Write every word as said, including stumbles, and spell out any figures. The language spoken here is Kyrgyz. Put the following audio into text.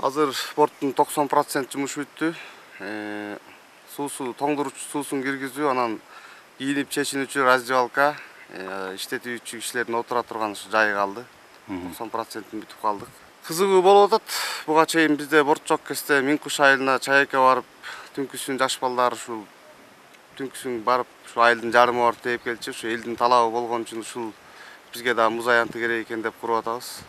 Азыр борттун токсон процент жумушу бүттү. Суусу тоңдуруч суусун киргизүү, анан кийинип чечинүүчү раздевалка, иштетүүчү кишилердин отура турган жайы калды. токсон процентин бүтүп калдык. Кызыгуу болуп атат. Буга чейин бизде борт жок кезде Миң-Куш айылына чайка барып, түнкүсүн жаш балдар ушул түнкүсүн барып, ушу айылдын жарымы барып тээп келчү. Ушу элдин талабы болгон үчүн ушул бизге да муз аянты керек экен деп куруп атабыз.